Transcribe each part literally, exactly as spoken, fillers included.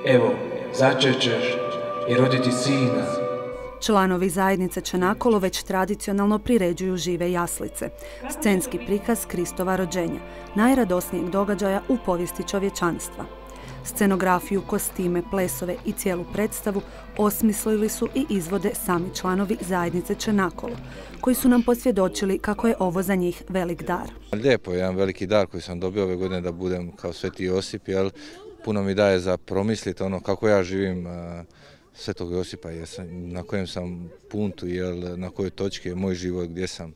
evo, začet ćeš i roditi sina. Članovi zajednice Čenakolo već tradicionalno priređuju žive jaslice, scenski prikaz Kristova rođenja, najradosnijeg događaja u povijesti čovječanstva. Scenografiju, kostime, plesove i cijelu predstavu osmislili su i izvode sami članovi zajednice Čenakolo, koji su nam posvjedočili kako je ovo za njih velik dar. Lijepo je jedan veliki dar koji sam dobio ove godine da budem kao Sveti Josip, jel? Puno mi daje za promisliti ono kako ja živim Svetog Josipa, jesam, na kojem sam puntu, jel, na kojoj točki je moj život, gdje sam.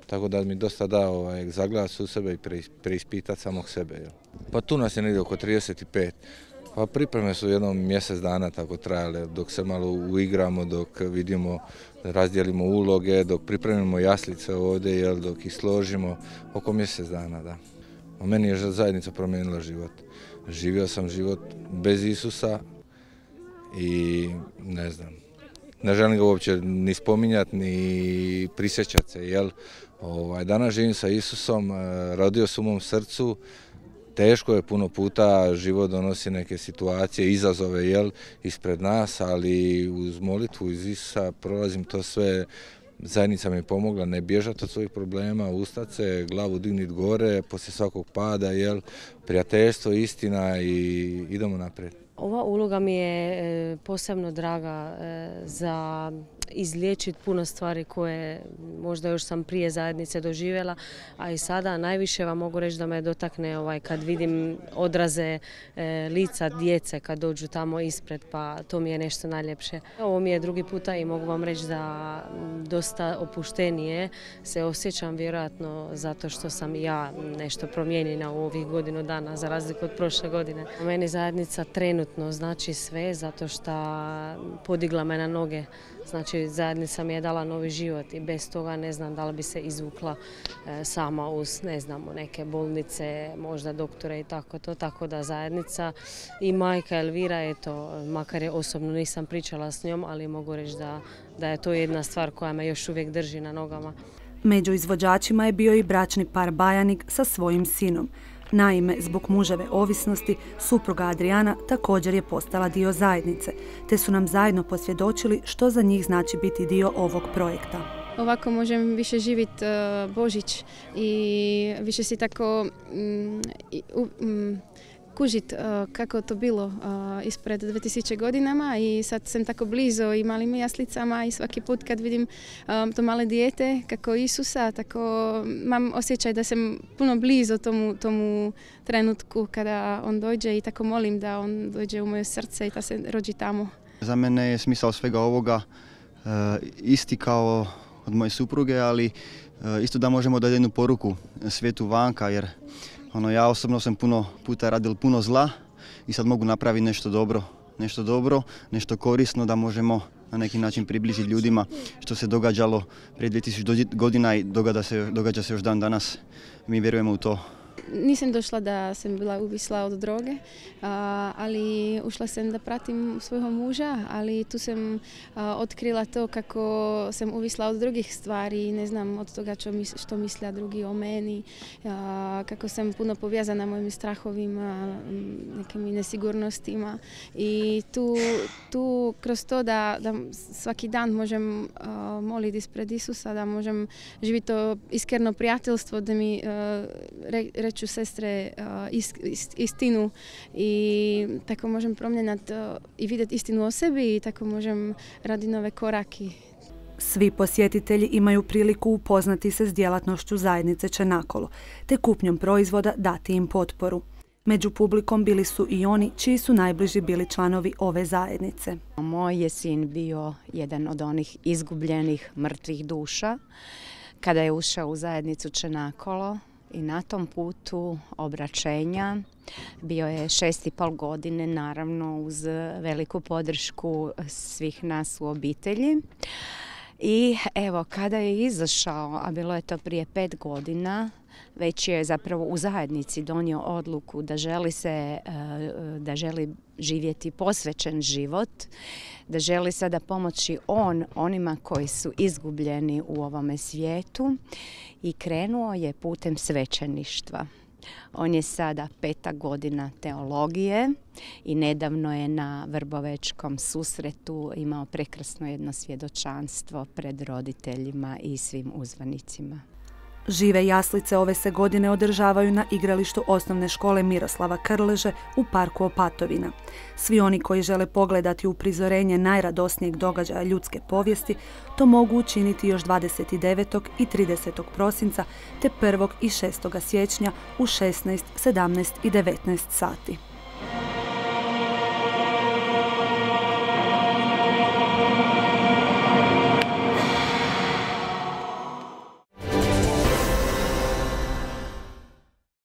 Tako da mi dosta da ovaj, zagledati u sebe i preispitati samog sebe. Jel. Pa tu nas je negdje oko trideset pet. Pa pripreme su jednom mjesec dana tako trajale, dok se malo uigramo, dok vidimo, razdijelimo uloge, dok pripremimo jaslice ovdje, jel, dok ih složimo, oko mjesec dana, da. A meni je zajednica promijenila život. Živio sam život bez Isusa i ne znam, ne želim ga uopće ni spominjati, ni prisjećati se, jel? Ovaj, danas živim sa Isusom, rodio se u mom srcu, teško je puno puta, život donosi neke situacije, izazove, jel, ispred nas, ali uz molitvu iz Isusa prolazim to sve. Zajednica mi je pomogla ne bježati od svojih problema, ustati se, glavu digniti gore, poslije svakog pada, jel, prijateljstvo, istina i idemo naprijed. Ova uloga mi je posebno draga za izliječiti puno stvari koje možda još sam prije zajednice doživjela, a i sada najviše vam mogu reći da me dotakne ovaj, kad vidim odraze e, lica djece kad dođu tamo ispred, pa to mi je nešto najljepše. Ovo mi je drugi puta i mogu vam reći da dosta opuštenije se osjećam, vjerojatno zato što sam ja nešto promijenjena u ovih godinu dana za razliku od prošle godine. Meni zajednica trenutno znači sve zato što podigla me na noge. Znači, zajednica mi je dala novi život i bez toga ne znam da li bi se izvukla e, sama uz, ne znamo, neke bolnice, možda doktore i tako to. Tako da zajednica i majka Elvira, eto, makar je osobno nisam pričala s njom, ali mogu reći da, da je to jedna stvar koja me još uvijek drži na nogama. Među izvođačima je bio i bračni par Bajanik sa svojim sinom. Naime, zbog muževe ovisnosti, supruga Adriana također je postala dio zajednice, te su nam zajedno posvjedočili što za njih znači biti dio ovog projekta. Ovako možem više živjeti uh, Božić i više si tako um, um, kužiti uh, kako to bilo uh, ispred dvije tisuće godinama i sad sam tako blizu i malim jaslicama i svaki put kad vidim um, to male dijete kako Isusa, tako imam osjećaj da sam puno blizu tomu, tomu trenutku kada on dođe i tako molim da on dođe u moje srce i da se rođi tamo. Za mene je smisao svega ovoga uh, isti kao od moje supruge, ali uh, isto da možemo dati jednu poruku svijetu vanka, jer Ono, ja osobno sam puno puta radil puno zla i sad mogu napraviti nešto dobro, nešto dobro, nešto korisno da možemo na neki način približiti ljudima što se događalo prije dvije tisuće godina i događa se, događa se još dan danas. Mi vjerujemo u to. Nisam došla da sam bila uvisla od droge, ali ušla sam da pratim svojeg muža, ali tu sam otkrila to kako sam uvisla od drugih stvari, ne znam od toga što misle drugi o meni, kako sam puno povezana mojim strahovima, nekim nesigurnostima i tu, tu kroz to da, da svaki dan možem moliti ispred Isusa, da možem živjeti to iskreno prijateljstvo, da mi re, reću sestre istinu i tako možem promijeniti i vidjeti istinu o sebi i tako možem raditi nove korake. Svi posjetitelji imaju priliku upoznati se s djelatnošću zajednice Čenakolo, te kupnjom proizvoda dati im potporu. Među publikom bili su i oni čiji su najbliži bili članovi ove zajednice. Moj je sin bio jedan od onih izgubljenih mrtvih duša kada je ušao u zajednicu Čenakolo. I na tom putu obraćenja bio je šest i pol godine, naravno uz veliku podršku svih nas u obitelji. I evo, kada je izašao, a bilo je to prije pet godina, već je zapravo u zajednici donio odluku da želi se, da želi živjeti posvećen život, da želi sada pomoći on onima koji su izgubljeni u ovome svijetu i krenuo je putem svećeništva. On je sada peta godina teologije i nedavno je na Vrbovečkom susretu imao prekrasno jedno svjedočanstvo pred roditeljima i svim uzvanicima. Žive jaslice ove se godine održavaju na igralištu osnovne škole Miroslava Krleže u parku Opatovina. Svi oni koji žele pogledati uprizorenje najradosnijeg događaja ljudske povijesti to mogu učiniti još dvadeset devetog i tridesetog prosinca te prvog i šestog siječnja u šesnaest, sedamnaest i devetnaest sati.